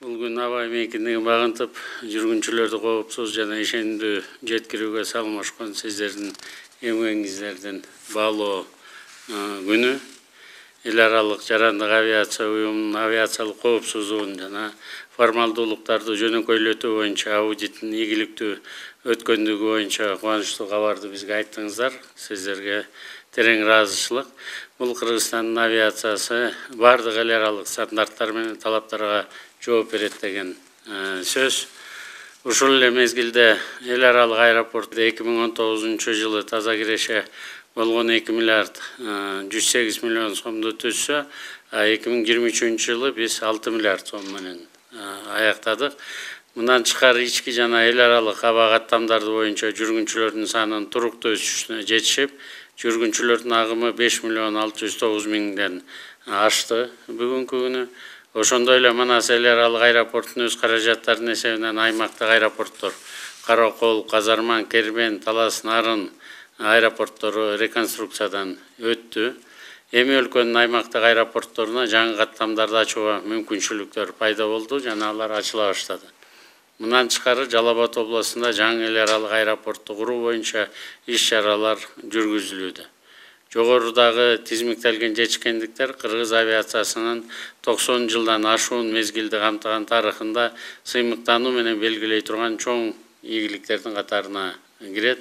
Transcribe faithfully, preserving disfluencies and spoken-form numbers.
Бул күн аба эмгекиндигин багынтып, жүргүнчүлөрдү коопсуз жана ишендүү жеткирүүгө салмашкан сиздердин эмгегиңиздердин баалоо күнү. Эл аралык жарандык авиация уюмунун авиациялык коопсуздугун жана формалдуулуктарды жөнөкөйлөтүү боюнча аудиттин ийгиликтүү өткөндүгү боюнча кубанычтуу кабарды бизге айттыңыздар. Сиздерге терең ыраазычылык. Бул Кыргызстандын авиациясы бардык эл аралык стандарттар менен талаптарга жооп берет деген сөз. Ушул эле мезгилде эл аралык аэропортто эки миң он тогузунчу жылы таза киреше болгон эки миллиард жүз сегиз миллион сомду түзсө, эки миң жыйырма үчүнчү жылы биз алты миллиард сом менен аяктадык. Мындан тышкары ички жана эл аралык аба каттамдары боюнча жүргүнчүлөрдүн санынын туруктуу өсүшүнө жетишип, жүргүнчүлөрдүн агымы беш миллион алты жүз тогуз миңден ашты бүгүнкү күнү. Ошондой эле Манас эл аралык аэропортунун өз каражаттарынын эсебинен аймактык аэропорттор Каракол, Казарман, Кербен, Талас, Нарын аэропорттору реконструкциядан өттү. Эми өлкөнүн аймактык аэропортторуна жаңы каттамдарды ачууга мүмкүнчүлүктөр пайда болду жана алар ачыла баштады. Мындан тышкары Жалал Абад областында жаңы эл аралык аэропортту куруу боюнча иш-чаралар жүргүзүлүүдө. Жогорудагы тизмиктелген жетишкендиктер Кыргыз авиациясынын токсон жылдан ашуун мезгилди камтыган тарыхында сыймыктануу менен белгилей турган чоң ийгиликтердин катарына кирет.